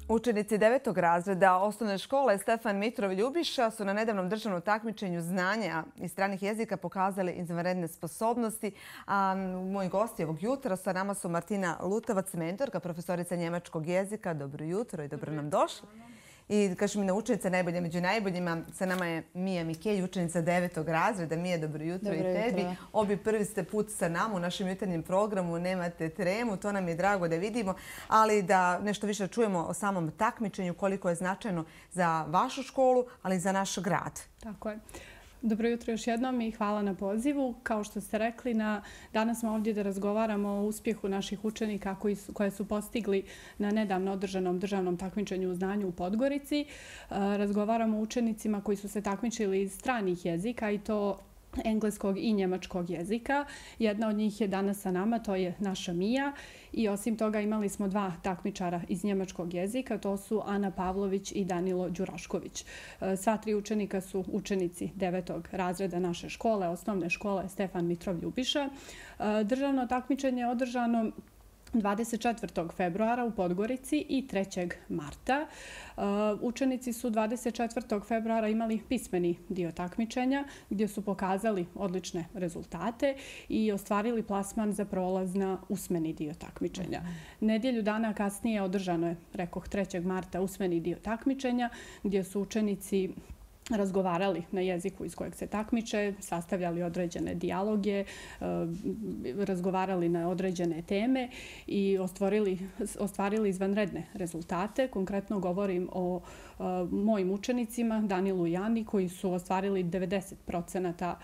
Učenici 9. razreda osnovne škole Stefan Mitrov Ljubiša su na nedavnom državnom takmičenju znanja i stranih jezika pokazali izvanredne sposobnosti. A moji gosti ovog jutra sa nama su Martina Lutovac, mentorka, profesorica njemačkog jezika. Dobro jutro i dobro nam došli. I kažem mi na učenica najbolja među najboljima. Sa nama je Mija Mikelj, učenica 9. razreda. Mija, dobro jutro i tebi. Obi prvi ste put sa nama u našem jutarnjem programu. Nemate tremu, to nam je drago da vidimo. Ali da nešto više čujemo o samom takmičenju, koliko je značajno za vašu školu, ali i za naš grad. Tako je. Dobro jutro još jednom i hvala na pozivu. Kao što ste rekli, danas smo ovdje da razgovaramo o uspjehu naših učenika koje su postigli na nedavno održanom državnom takmičenju u znanju u Podgorici. Razgovaramo o učenicima koji su se takmičili iz stranih jezika i to engleskog i njemačkog jezika. Jedna od njih je danas sa nama, to je naša Mija. I osim toga imali smo dva takmičara iz njemačkog jezika, to su Ana Pavlović i Danilo Đurašković. Sva tri učenika su učenici 9. razreda naše škole, osnovne škole Stefan Mitrov Ljubiša. Državno takmičenje je održano 24. februara u Podgorici i 3. marta. Učenici su 24. februara imali pismeni dio takmičenja gdje su pokazali odlične rezultate i ostvarili plasman za prolaz na usmeni dio takmičenja. Nedjelju dana kasnije održano je, rekoh, 3. marta usmeni dio takmičenja gdje su učenici razgovarali na jeziku iz kojeg se takmiče, sastavljali određene dijaloge, razgovarali na određene teme i ostvarili izvanredne rezultate. Konkretno govorim o mojim učenicima, Danilu i Ani, koji su ostvarili 90%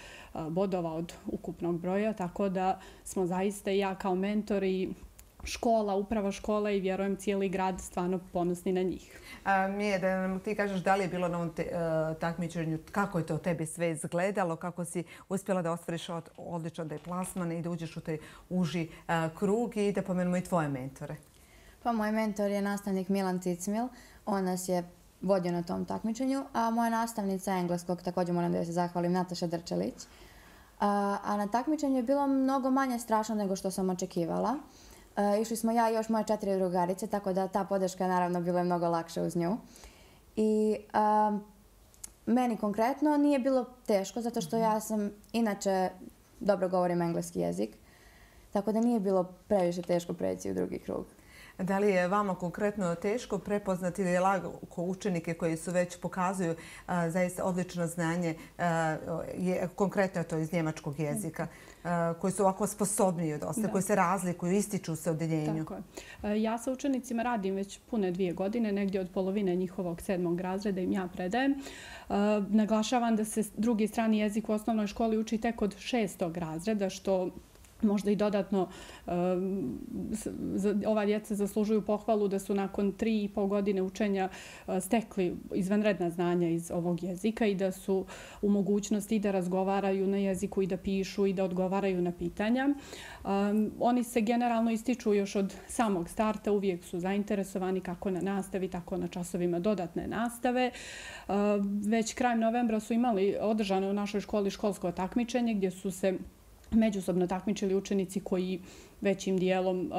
bodova od ukupnog broja, tako da smo zaista i ja kao mentor i škola, uprava škola i vjerujem cijeli grad stvarno ponosni na njih. Mije, da nam ti kažeš da li je bilo na ovom takmičenju, kako je to tebi sve izgledalo, kako si uspjela da ostvariš odličan plasman i da uđeš u taj uži krug i da pomenemo i tvoje mentore. Pa moj mentor je nastavnik Milan Cicmil. On nas je vodio na tom takmičenju, a moja nastavnica engleskog, također moram da joj se zahvalim, Nataša Drčelić. A na takmičenju je bilo mnogo manje strašno nego što sam očekivala. Išli smo ja i još moje 4 drugarice, tako da ta podrška naravno bila je mnogo lakša uz nju. I meni konkretno nije bilo teško, zato što ja sam inače dobro govorim engleski jezik, tako da nije bilo previše teško preći u drugi krug. Da li je vama konkretno teško prepoznati ili je lako učenike koji su već pokazuju zaista odlično znanje, konkretno to iz njemačkog jezika, koji su ovako sposobniji od ostale, koji se razlikuju, ističu se u odeljenju? Tako je. Ja sa učenicima radim već pune 2 godine, negdje od polovine njihovog 7. razreda im ja predajem. Naglašavam da se drugi strani jezik u osnovnoj školi uči tek od 6. razreda, što možda i dodatno ova djeca zaslužuju pohvalu da su nakon 3,5 godine učenja stekli izvanredna znanja iz ovog jezika i da su u mogućnosti da razgovaraju na jeziku i da pišu i da odgovaraju na pitanja. Oni se generalno ističu još od samog starta, uvijek su zainteresovani kako na nastavi, tako na časovima dodatne nastave. Već krajem novembra su imali održano u našoj školi školsko takmičenje gdje su se međusobno takmičili učenici koji većim dijelom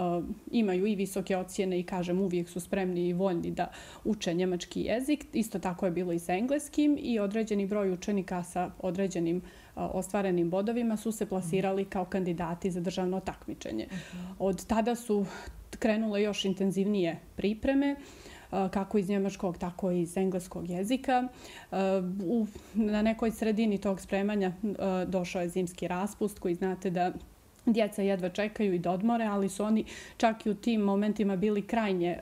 imaju i visoke ocjene i, kažem, uvijek su spremni i voljni da uče njemački jezik. Isto tako je bilo i sa engleskim i određeni broj učenika sa određenim ostvarenim bodovima su se plasirali kao kandidati za državno takmičenje. Od tada su krenule još intenzivnije pripreme, kako iz njemačkog, tako i iz engleskog jezika. Na nekoj sredini tog spremanja došao je zimski raspust koji znate da djeca jedva čekaju i da odmore, ali su oni čak i u tim momentima bili krajnje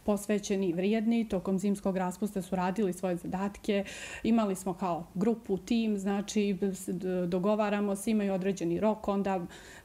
posvećeni i vrijedni. Tokom zimskog raspusta su radili svoje zadatke. Imali smo kao grupu, tim, znači dogovaramo se, imaju određeni rok, onda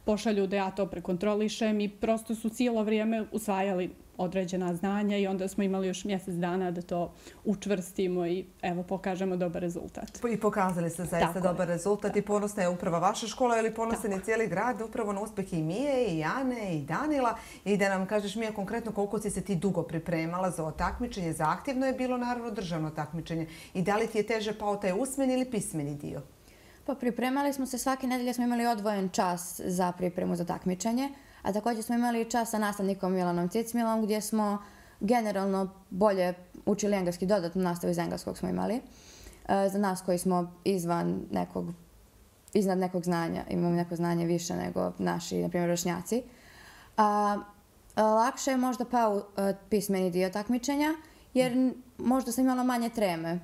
pošalju da ja to prekontrolišem i prosto su cijelo vrijeme usvajali određena znanja i onda smo imali još mjesec dana da to učvrstimo i evo pokažemo dobar rezultat. I pokazali ste zaista dobar rezultat i ponosna je uprava vaša škola ili ponosan je cijeli grad upravo na uspjeh i Mije, i Ane, i Danila. I da nam kažeš, Mija, konkretno koliko si se ti dugo pripremala za ovo takmičenje? Zahtjevno je bilo naravno državno takmičenje. I da li ti je teže pao taj usmeni ili pismeni dio? Pa pripremali smo se, svake nedelje smo imali odvojen čas za pripremu za takmičenje, a također smo imali čas sa nastavnikom Milanom Cicmilom gdje smo generalno bolje učili engleski, dodatnu nastavu iz engleskog smo imali. Za nas koji smo iznad nekog znanja, imamo neko znanje više nego naši, na primjer, vršnjaci. Lakše je možda pao pismeni dio takmičenja, jer možda sam imala manje treme.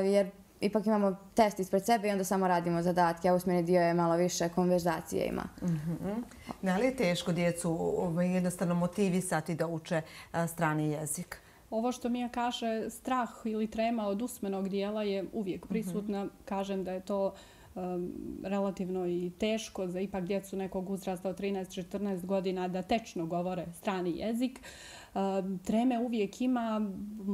Jer ipak imamo test ispred sebe i onda samo radimo zadatke, a usmeni dio je malo više konverzacije ima. Da li je teško djecu jednostavno motivisati da uče strani jezik? Ovo što Mija kaže, strah ili trema od usmenog dijela je uvijek prisutna. Kažem da je to relativno i teško za ipak djecu nekog uzrasta od 13-14 godina da tečno govore strani jezik. Treme uvijek ima.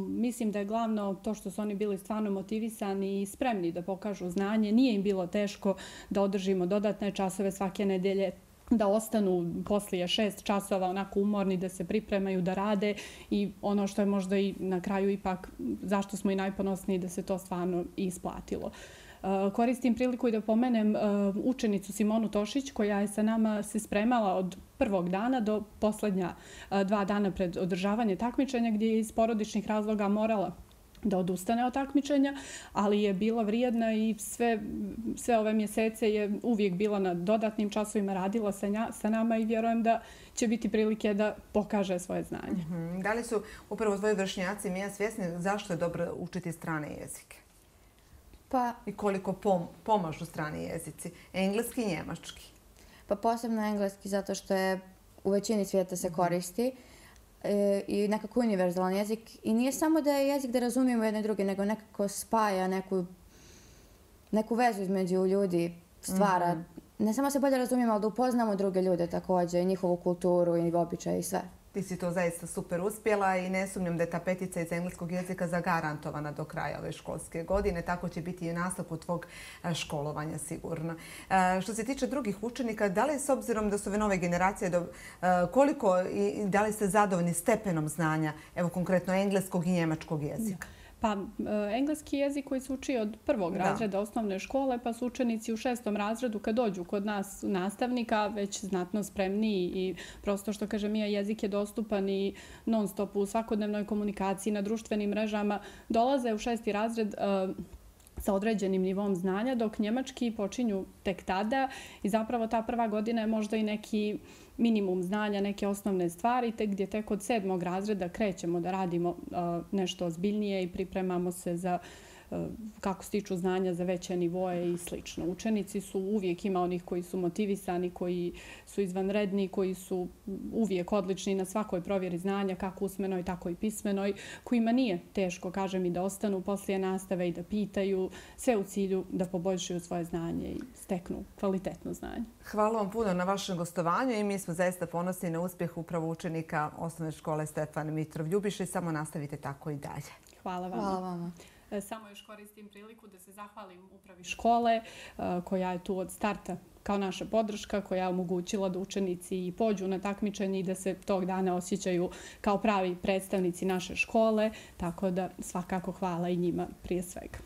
Mislim da je glavno to što su oni bili stvarno motivisani i spremni da pokažu znanje. Nije im bilo teško da održimo dodatne časove svake nedelje, da ostanu poslije 6 časova onako umorni, da se pripremaju, da rade i ono što je možda i na kraju ipak zašto smo i najponosniji da se to stvarno isplatilo. Koristim priliku i da pomenem učenicu Simonu Tošić koja je sa nama se spremala od prvog dana do posljednja 2 dana pred održavanje takmičenja gdje je iz porodičnih razloga morala da odustane od takmičenja, ali je bila vrijedna i sve ove mjesece je uvijek bila na dodatnim časovima, radila sa nama i vjerujem da će biti prilike da pokaže svoje znanje. Da li su upravo tvoji vršnjaci, Mija, svjesni zašto je dobro učiti strane jezike? I koliko pomažu strani jezici? Engleski i njemački? Pa posebno engleski zato što je u većini svijeta se koristi i nekako univerzalan jezik. I nije samo da je jezik da razumijemo jedne druge, nego nekako spaja neku vezu između ljudi, stvara. Ne samo se bolje razumijemo, ali da upoznamo druge ljude također, i njihovu kulturu i običaje i sve. Ti si to zaista super uspjela i ne sumnjam da je ta petica iz engleskog jezika zagarantovana do kraja ove školske godine. Tako će biti i u nastavku tvog školovanja sigurno. Što se tiče drugih učenika, da li s obzirom da su ove nove generacije, koliko i da li ste zadovoljni stepenom znanja, evo konkretno engleskog i njemačkog jezika? Pa engleski jezik koji se uči od prvog razreda osnovne škole, pa su učenici u 6. razredu kad dođu kod nas nastavnika već znatno spremniji i prosto što kaže Mija, jezik je dostupan i non stop u svakodnevnoj komunikaciji na društvenim mrežama. Dolaze u 6. razred sa određenim nivom znanja, dok njemački počinju tek tada i zapravo ta prva godina je možda i neki minimum znanja, neke osnovne stvari, gdje tek od 7. razreda krećemo da radimo nešto ozbiljnije i pripremamo se za kako stiču znanja za veće nivoje i slično. Učenici su uvijek, ima onih koji su motivisani, koji su izvanredni, koji su uvijek odlični na svakoj provjeri znanja, kako usmenoj, tako i pismenoj, kojima nije teško, kažem, i da ostanu poslije nastave i da pitaju, sve u cilju da poboljšaju svoje znanje i steknu kvalitetno znanje. Hvala vam puno na vašem gostovanju i mi smo zaista ponosni na uspjeh upravo učenika osnovne škole Stefan Mitrov Ljubiša i samo nastavite tako i dalje. Hvala vama. Hvala vama. Samo još koristim priliku da se zahvalim upravi škole koja je tu od starta kao naša podrška, koja je omogućila da učenici i pođu na takmičenje i da se tog dana osjećaju kao pravi predstavnici naše škole, tako da svakako hvala i njima prije svega.